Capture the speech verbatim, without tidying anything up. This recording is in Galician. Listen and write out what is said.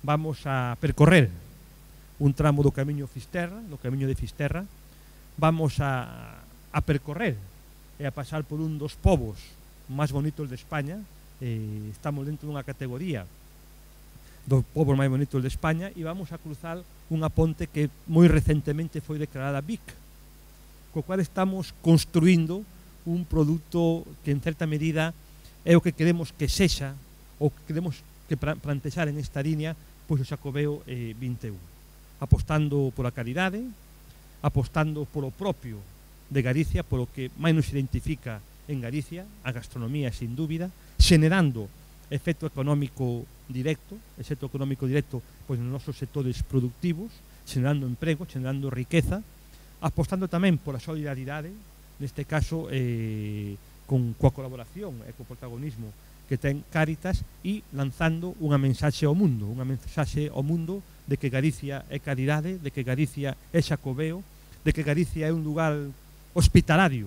vamos a percorrer un tramo do camiño Fisterra, do camiño de Fisterra, vamos a, a percorrer e a pasar por un dos povos máis bonitos de España. Eh, estamos dentro dunha categoría dos povos máis bonitos de España e vamos a cruzar unha ponte que moi recentemente foi declarada V I C, co cual estamos construindo un produto que en certa medida é o que queremos que sexa, ou que queremos que plantexar en esta línea, pois o Xacobeo eh, vinte e un, apostando pola calidade, apostando polo propio de Galicia, polo que máis nos identifica en Galicia, a gastronomía sin dúbida, xenerando efecto económico directo, efecto económico directo pois nos nosos sectores productivos, xenerando emprego, xenerando riqueza, apostando tamén pola solidaridade, neste caso eh, con coa colaboración e co protagonismo que ten Cáritas, e lanzando unha mensaxe ao mundo, unha mensaxe ao mundo de que Galicia é calidade, de que Galicia é Xacobeo, de que Galicia é un lugar hospitalario